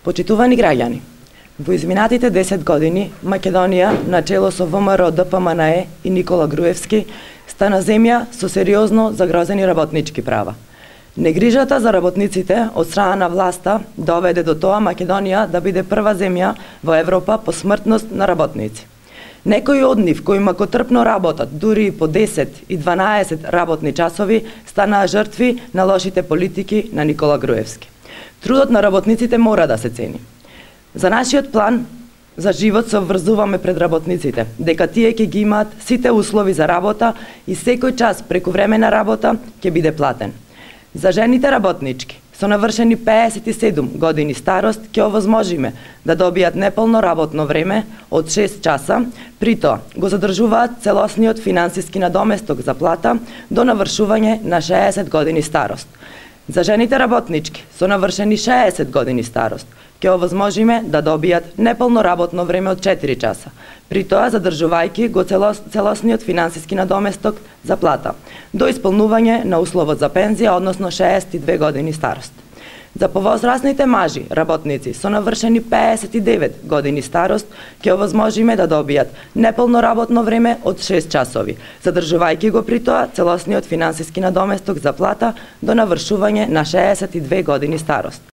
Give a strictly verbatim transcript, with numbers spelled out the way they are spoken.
Почитувани граѓани, во изминатите десет години Македонија, начело со ВМРО Д П М Н Е и Никола Груевски, стана земја со сериозно загрозени работнички права. Негрижата за работниците од страна на власта доведе до тоа Македонија да биде прва земја во Европа по смртност на работници. Некои од нив кои макотрпно работат дури и по десет и дванаесет работни часови станаа жртви на лошите политики на Никола Груевски. Трудот на работниците мора да се цени. За нашиот план за живот се обврзуваме пред работниците, дека тие ќе ги имаат сите услови за работа и секој час прекувремена работа ќе биде платен. За жените работнички со навршени пеесет и седум години старост ќе овозможиме да добијат неполно работно време од шест часа, при тоа го задржуваат целосниот финансиски надоместок за плата до навршување на шеесет години старост. За жените работнички со навршени шеесет години старост ќе овозможиме да добијат неполно работно време од четири часа, при тоа задржувајќи го целос, целосниот финансиски надоместок за плата, до исполнување на условот за пензија, односно шеесет и две години старост. За повозрасните мажи работници со навршени пеесет и девет години старост ќе овозможиме да добијат неполно работно време од шест часови, задржувајќи го при тоа целосниот финансиски надоместок за плата до навршување на шеесет и две години старост.